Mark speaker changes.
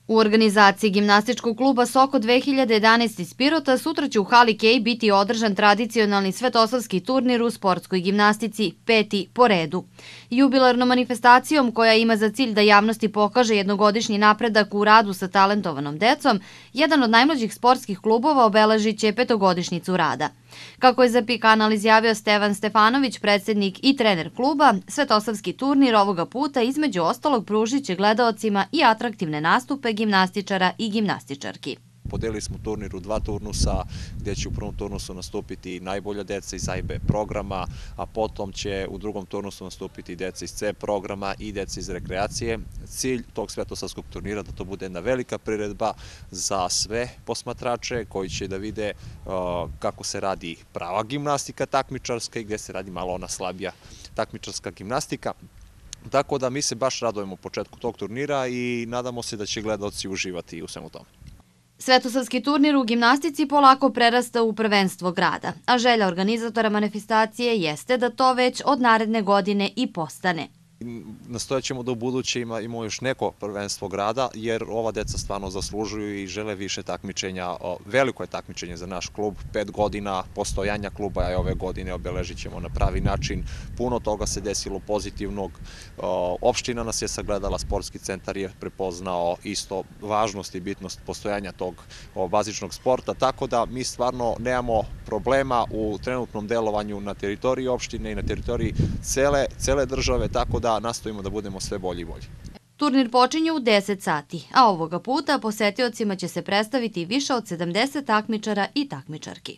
Speaker 1: U organizaciji gimnastičkog kluba Soko 2011 iz Pirota sutra će u hali Kej biti održan tradicionalni svetosavski turnir u sportskoj gimnastici, 5. po redu. Jubilarnom manifestacijom koja ima za cilj da javnosti pokaže jednogodišnji napredak u radu sa talentovanom decom, jedan od najmlađih sportskih klubova obeležit će 5-godišnjicu rada. Kako je za PIK Kanal izjavio Stevan Stefanović, predsjednik i trener kluba, svetosavski turnir ovoga puta između ostalog pružit će gledaocima i atraktivne nastupe gimnastičara i gimnastičarki.
Speaker 2: Podelili smo turnir u 2 turnusa, gdje će u prvom turnusu nastupiti najbolja deca iz A i B programa, a potom će u drugom turnusu nastupiti deca iz C programa i deca iz rekreacije. Cilj tog svetosavskog turnira da to bude jedna velika priredba za sve posmatrače koji će da vide kako se radi prava gimnastika takmičarska i gdje se radi malo ona slabija takmičarska gimnastika. Tako da mi se baš radujemo početku tog turnira i nadamo se da će gledaoci uživati u svemu tome.
Speaker 1: Svetosavski turnir u gimnastici polako prerasta u prvenstvo grada, a želja organizatora manifestacije jeste da to već od naredne godine i postane.
Speaker 2: Nastojat ćemo da u buduće imamo još neko prvenstvo grada, jer ova deca stvarno zaslužuju i žele više takmičenja. Veliko je takmičenje za naš klub, 5 godina postojanja kluba, a ove godine obeležit ćemo na pravi način. Puno toga se desilo pozitivnog, opština nas je sagledala, sportski centar je prepoznao isto važnost i bitnost postojanja tog bazičnog sporta, tako da mi stvarno nemamo problema u trenutnom delovanju na teritoriji opštine i na teritoriji cele države, tako da nastojimo da budemo sve bolji i bolji.
Speaker 1: Turnir počinje u 10 sati, a ovoga puta posetiocima će se predstaviti više od 70 takmičara i takmičarki.